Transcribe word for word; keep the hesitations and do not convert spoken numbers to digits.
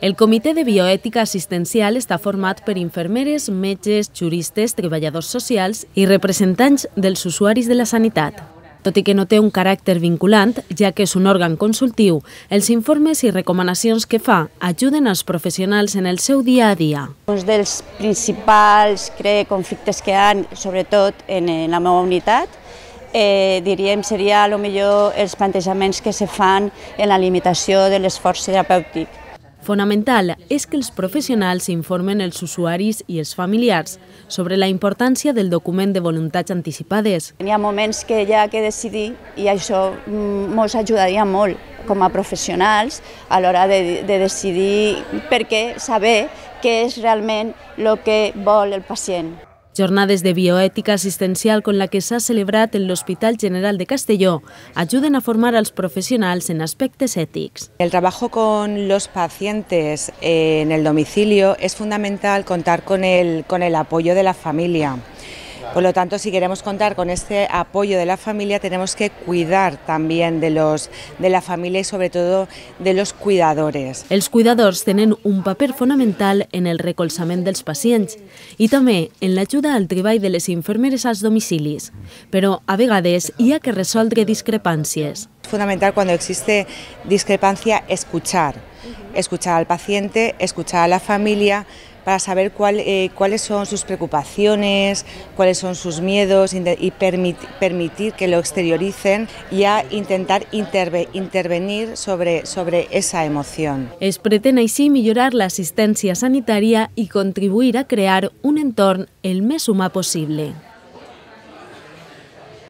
El Comitè de Bioètica Assistencial està format per infermeres, metges, juristes, treballadors socials i representants dels usuaris de la sanitat. Tot i que no té un caràcter vinculant, ja que és un òrgan consultiu, els informes i recomanacions que fa ajuden als professionals en el seu dia a dia. Un dels principals crec, conflictes que hi ha, sobretot en la meva unitat, eh, diríem seria a lo millor els plantejaments que se fan en la limitació de l'esforç terapèutic. Fonamental és que els professionals informen els usuaris i els familiars sobre la importància del document de voluntats anticipades. Hi ha moments que hi ha que decidir i això ens ajudaria molt com a professionals a l'hora de, de decidir perquè saber què és realment el que vol el pacient. Jornades de bioètica assistencial con la que s'ha celebrat en l'Hospital General de Castelló ayuden a formar als profesionals en aspectos éticos. El trabajo con los pacientes en el domicilio es fundamental contar con el, con el apoyo de la familia. Por lo tanto, si queremos contar con este apoyo de la familia, tenemos que cuidar también de, los, de la familia y sobre todo de los cuidadores. Els cuidadors tenen un paper fonamental en el recolzament dels pacients i també en l'ajuda al treball de les infermeres als domicilis, però a vegades hi ha que resoldre discrepàncies. Es fundamental cuando existe discrepancia escuchar, escuchar al paciente, escuchar a la familia, para saber cuál, eh, cuáles son sus preocupaciones, cuáles son sus miedos y permit, permitir que lo exterioricen y a intentar interve, intervenir sobre, sobre esa emoción. Es pretén així millorar l'assistència sanitària i contribuir a crear un entorn el més humà possible.